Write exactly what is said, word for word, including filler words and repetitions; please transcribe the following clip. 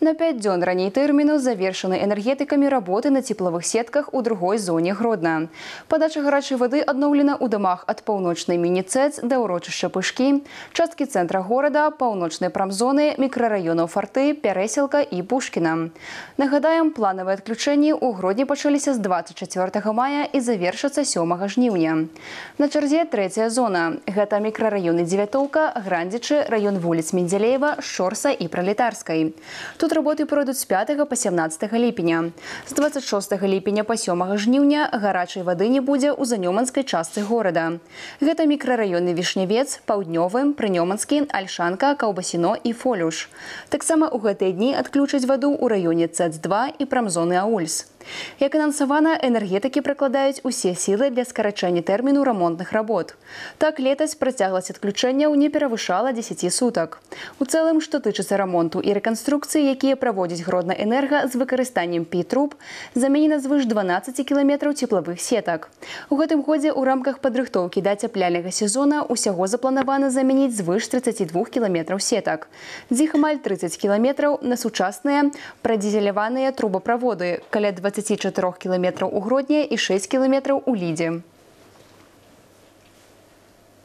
На пять дзён раней тэрміну завершаны энергетыкамі работы на тепловых сетках у другой зоне Гродна. Падача гарачай вады адноўлена ў дамах ад паўночнай міні-цэц да ўрочышча Пышкі, часткі цэнтра горада, паўночнай прамзоны, мікрараёнаў Фарты, Пярэсілка і Пушкіна. Нагадаем, планавыя адключэнні ў Гродні пачаліся з дваццаць чацвёртага мая і завершацца сёмага жніўня. На чарзе трэцяя зона. Гэта мікрараёны Дзевятоўка, Грандзічы, раён вуліц Мензелеева, Шорса і Пралетарскай. Тут работы пройдуць з пятага па сямнаццатага ліпеня. З дваццаць шостага ліпеня па сёмага жніўня гарачай вады не будзе ў занёманскай частцы горада. Гэта мікрараёны Вішнявец, Паўднёвы, Прынёманскі, Альшанка, Каўбасіно і Фолюш. Таксама ў гэтыя дні адключаць ваду ў раёне цэц два і прамзоны Аульс. Як анансавана, энергетыкі прыкладаюць усе сілы для скарачэння тэрміну рамонтных работ. Так, летась працягласць адключэнняў не перавышала дзесяці сутак. У цэлым, што тычыцца рамонту і рэканструкцыі, якія праводзіць Гроднаэнерга з выкарыстаннем пі-труб, заменена звыш дванаццаці кіламетраў цеплавых сетак. У гэтым годзе ў рамках падрыхтоўкі да ацяпляльнага сезона ўсяго запланавана замяніць звыш трыццаці двух кіламетраў сетак. З іх амаль трыццаць кіламетраў на сучасныя прадзізеляваныя трубаправоды, каля дваццаці чатырох кіламетраў у Гродні і шэсць кіламетраў у Лідзе.